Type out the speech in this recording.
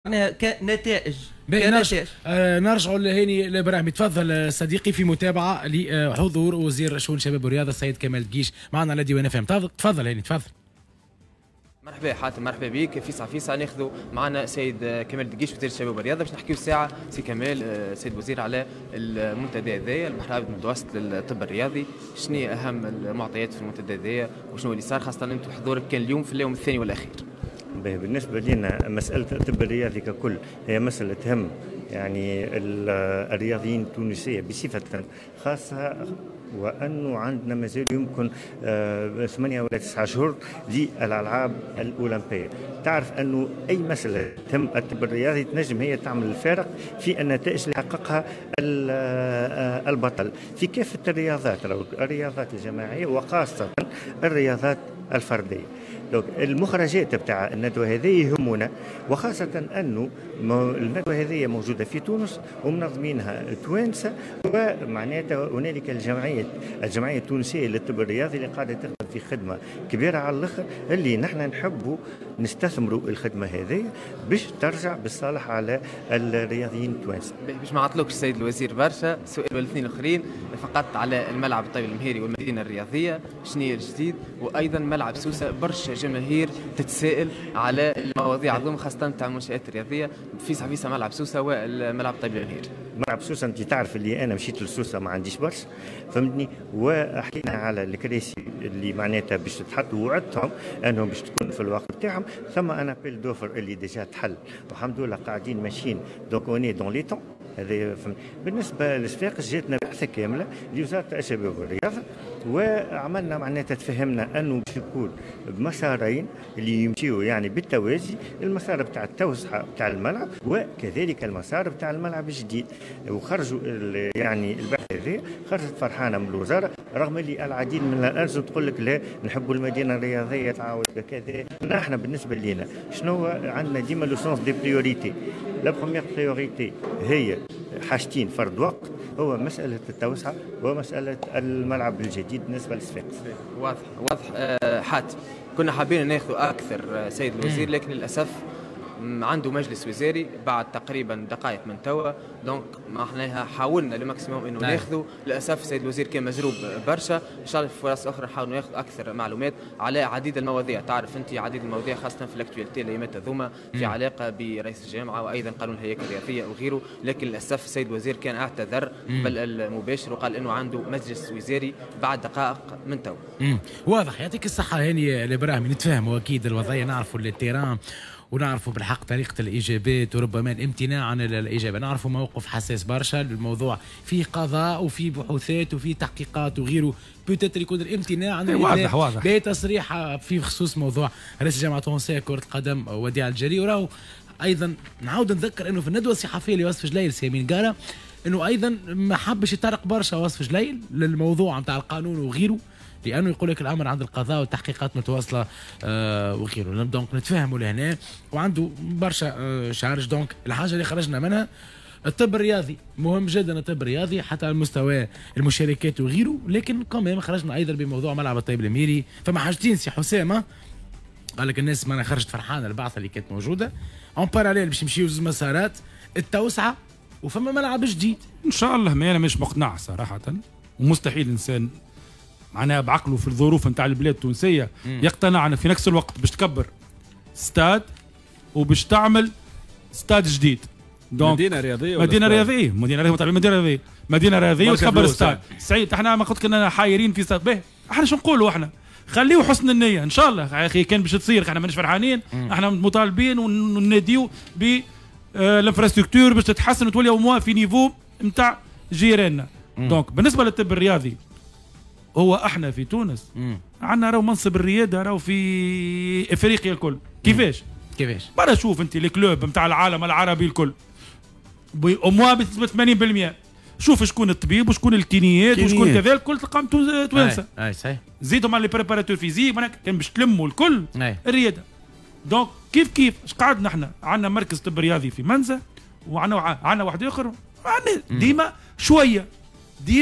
معناها كنتائج. كنتائج. نرجع لهاني الابراهيمي. تفضل صديقي في متابعه لحضور وزير شؤون الشباب والرياضة السيد كمال دقيش معنا على ديوان اف ام. تفضل هاني، تفضل. مرحبا حاتم، مرحبا بك. فيسع فيسع ناخذوا معنا سيد كمال دقيش وزير الشباب والرياضة باش نحكيو ساعة سي كمال، سيد وزير، على المنتدى هذايا البحر الابيض المتوسط للطب الرياضي. شنو هي اهم المعطيات في المنتدى هذايا وشنو اللي صار، خاصة انتم حضورك كان اليوم في اليوم الثاني والاخير؟ بالنسبة لنا مسألة الطب الرياضي ككل هي مسألة تهم يعني الرياضيين التونسية بصفة خاصة، وأنه عندنا مازال يمكن 8 ولا 9 شهور للألعاب الأولمبية. تعرف أنه أي مسألة تهم الطب الرياضي تنجم هي تعمل الفارق في النتائج اللي حققها البطل في كافة الرياضات، الرياضات الجماعية وخاصة الرياضات الفردية. donc المخرجات بتاع الندوة هذه يهمنا، وخاصة أنه الندوة هذه موجودة في تونس ومنظمينها توانسة، ومعناتها هنالك الجمعية التونسية للطب الرياضي اللي قاعدة تخدم في خدمة كبيرة على الآخر، اللي نحن نحبوا نستثمروا الخدمة هذه باش ترجع بالصالح على الرياضيين التوانسة. باش ما عطلوكش السيد الوزير برشا، سؤال والاثنين الاخرين فقط على الملعب الطيب المهيري والمدينة الرياضية، شنو هي الجديد؟ وايضا ملعب سوسة، برشا جماهير تتساءل على المواضيع هذوما خاصة تاع المنشآت الرياضية. فيسع فيسع، ملعب سوسة والملعب الطيب المهيري. ملعب سوسة، انت تعرف اللي انا مشيت لسوسة ما عنديش برشا، فهمتني، وحكينا على الكراسي اللي معناتها باش تتحط، ووعدتهم انهم باش تكون في الوقت بتاعهم. ثم un appel d'offres اللي déjà تحل، والحمد لله قاعدين ماشيين، donc on est dans les temps. هذا بالنسبة لصفاقس. جاتنا بعثه كاملة لوزارة الشباب والرياضه، وعملنا معناتها تفهمنا انه باش يكون بمسارين اللي يمشيوا يعني بالتوازي، المسار بتاع التوسعة بتاع الملعب وكذلك المسار بتاع الملعب الجديد. وخرجوا يعني البعثة هذه خرجت فرحانة من الوزاره، رغم اللي العديد من الارزم تقول لك لا، نحبوا المدينة الرياضية تعاود كذا. نحن بالنسبة لنا شنو عندنا؟ ديما le sens des priorités. la première priorité هي حاجتين فرد وقت، هو مسألة التوسعة ومسألة الملعب الجديد بالنسبة للصفاقس. واضح واضح. حاتم، كنا حابين ناخذ أكثر سيد الوزير، لكن للأسف عنده مجلس وزاري بعد تقريبا دقائق من توا، donc معناها حاولنا le maximum انه ناخذه. للاسف السيد الوزير كان مزروب برشا. ان شاء الله في فرص اخرى نحاول ناخذ اكثر معلومات على عديد المواضيع. تعرف انت عديد المواضيع خاصة في l'actualité الايامات هذوما في علاقة برئيس الجامعة وايضا قانون الهياكل الرياضية وغيره، لكن للاسف السيد الوزير كان اعتذر قبل المباشر وقال انه عنده مجلس وزاري بعد دقائق من توا. واضح، يعطيك الصحة هاني الابراهيمي. نتفاهموا اكيد الوضعيه، نعرفوا ال terrain ونعرفوا بالحق طريقة الإجابات وربما الامتناع عن الإجابة. نعرفوا موقف حساس برشا، الموضوع فيه قضاء وفيه بحوثات وفيه تحقيقات وغيره، peut-être يكون الامتناع عن واضح واضح. بتصريح في خصوص موضوع رئيس الجامعة التونسية كرة القدم وديع الجري. وراهو ايضا نعاود نذكر انه في الندوة الصحفية لواصف جلايل سي أمين قارة، انه ايضا ما حبش يطرق برشا واصف جلايل للموضوع نتاع القانون وغيره، لانه يقول لك الامر عند القضاء والتحقيقات متواصلة وغيره. donc نتفاهموا لهنا وعنده برشا charges. donc الحاجة اللي خرجنا منها الطب الرياضي مهم جدا، الطب الرياضي حتى على مستوى المشاركات وغيره، لكن quand même خرجنا ايضا بموضوع ملعب الطيب المهيري. فما حاجتين سي حسام، قال لك الناس ما خرجت فرحانة البعثة اللي كانت موجوده، en parallèle باش يمشيو زوج مسارات، التوسعة وفما ملعب جديد. ان شاء الله، ما انا مش مقنع صراحه، ومستحيل انسان معناها بعقله في الظروف نتاع البلاد التونسية يقتنع أن في نفس الوقت باش تكبر ستاد وباش تعمل ستاد جديد. donc مدينة رياضيه. مدينة رياضيه، مدينة رياضيه، مدينة رياضيه، مدينة رياضية وتكبر ستاد. سعيد، احنا ما قلت كنا حايرين في ستاد به. احنا شو نقولوا؟ احنا خليه حسن النيه، ان شاء الله يا اخي كان باش تصير احنا ماناش فرحانين. احنا مطالبين ونناديو ب l'infrastructure باش تتحسن وتولي au moins في niveau نتاع جيراننا. donc بالنسبة للطب الرياضي، هو احنا في تونس عندنا راهو منصب الرياده راهو في افريقيا الكل. كيفاش؟ كيفاش؟ برا شوف انت les clubs نتاع العالم العربي الكل au moins بنسبة 80%، شوف شكون الطبيب وشكون ال kiné يات وشكون كذا، الكل تلقاهم توانسه. اي صحيح. زيدهم على les préparateurs physiques، كان باش تلموا الكل الرياده. donc كيف كيف اش قعدنا احنا؟ عندنا مركز طب رياضي في منزه وعندنا واحد اخر، عندنا ديما شوية ديما.